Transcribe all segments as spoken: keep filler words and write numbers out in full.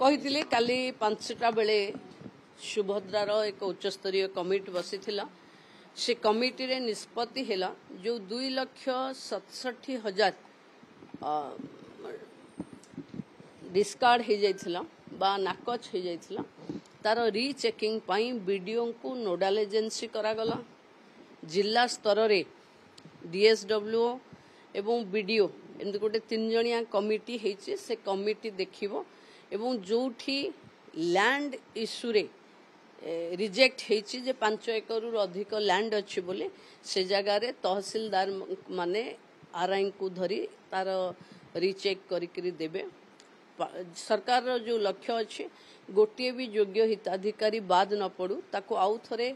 କହିଥିଲି କାଲି ପାଞ୍ଚଟା ବେଳେ ସୁଭଦ୍ରାର ଏକ ଉଚ୍ଚସ୍ତରୀୟ କମିଟି ବସିଥିଲା। ସେ କମିଟିରେ ନିଷ୍ପତ୍ତି ହେଲା, ଯେଉଁ ଦୁଇ ଲକ୍ଷ ସତଷଠି ହଜାର ଡିସକାର୍ଡ ହେଇଯାଇଥିଲା ବା ନାକଚ ହେଇଯାଇଥିଲା, ତାର ରିଚେକିଂ ପାଇଁ ବିଡିଓଙ୍କୁ ନୋଡାଲ ଏଜେନ୍ସି କରାଗଲା। ଜିଲ୍ଲା ସ୍ତରରେ ଡିଏସ୍ଡବ୍ଲ୍ୟୁଓ ଏବଂ ବିଡିଓ, ଏମିତି ଗୋଟେ ତିନି ଜଣିଆ କମିଟି ହେଇଛି। ସେ କମିଟି ଦେଖିବ ଏବଂ ଯେଉଁଠି ଲ୍ୟାଣ୍ଡ ଇସ୍ୟୁରେ ରିଜେକ୍ଟ ହେଇଛି ଯେ ପାଞ୍ଚ ଏକରରୁ ଅଧିକ ଲ୍ୟାଣ୍ଡ ଅଛି ବୋଲି, ସେ ଜାଗାରେ ତହସିଲଦାର ମାନେ ଆର୍ଆଇଙ୍କୁ ଧରି ତାର ରିଚେକ୍ କରିକିରି ଦେବେ। ସରକାରର ଯେଉଁ ଲକ୍ଷ୍ୟ ଅଛି, ଗୋଟିଏ ବି ଯୋଗ୍ୟ ହିତାଧିକାରୀ ବାଦ ନ ପଡ଼ୁ, ତାକୁ ଆଉ ଥରେ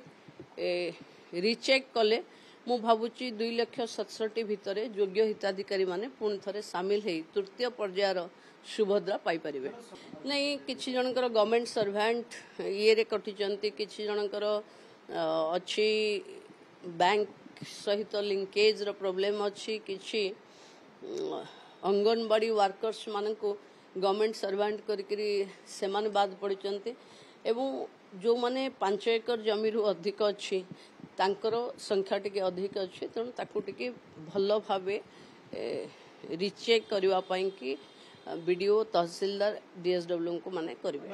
ରିଚେକ୍ କଲେ ମୁଁ ଭାବୁଛି ଦୁଇ ଲକ୍ଷ ସତଷଠି ଭିତରେ ଯୋଗ୍ୟ ହିତାଧିକାରୀମାନେ ପୁଣି ଥରେ ସାମିଲ ହେଇ ତୃତୀୟ ପର୍ଯ୍ୟାୟର ସୁଭଦ୍ରା ପାଇପାରିବେ। ନାଇଁ, କିଛି ଜଣଙ୍କର ଗଭର୍ଣ୍ଣମେଣ୍ଟ ସର୍ଭାଣ୍ଟ ଇଏରେ କଟିଛନ୍ତି, କିଛି ଜଣଙ୍କର ଅଛି ବ୍ୟାଙ୍କ ସହିତ ଲିଙ୍କେଜର ପ୍ରୋବ୍ଲେମ୍ ଅଛି, କିଛି ଅଙ୍ଗନବାଡ଼ି ୱାର୍କର୍ସ ମାନଙ୍କୁ ଗଭର୍ଣ୍ଣମେଣ୍ଟ ସର୍ଭାଣ୍ଟ କରିକିରି ସେମାନେ ବାଦ ପଡ଼ିଛନ୍ତି ଏବଂ ଯେଉଁମାନେ ପାଞ୍ଚ ଏକର ଜମିରୁ ଅଧିକ ଅଛି ତାଙ୍କର ସଂଖ୍ୟା ଟିକେ ଅଧିକ ଅଛି। ତେଣୁ ତାକୁ ଟିକେ ଭଲ ଭାବେ ରିଚେକ୍ କରିବା ପାଇଁକି ବିଡ଼ିଓ, ତହସିଲଦାର, ଡିଏସ୍ଡବ୍ଲ୍ୟୁଙ୍କୁ ମାନେ କରିବେ।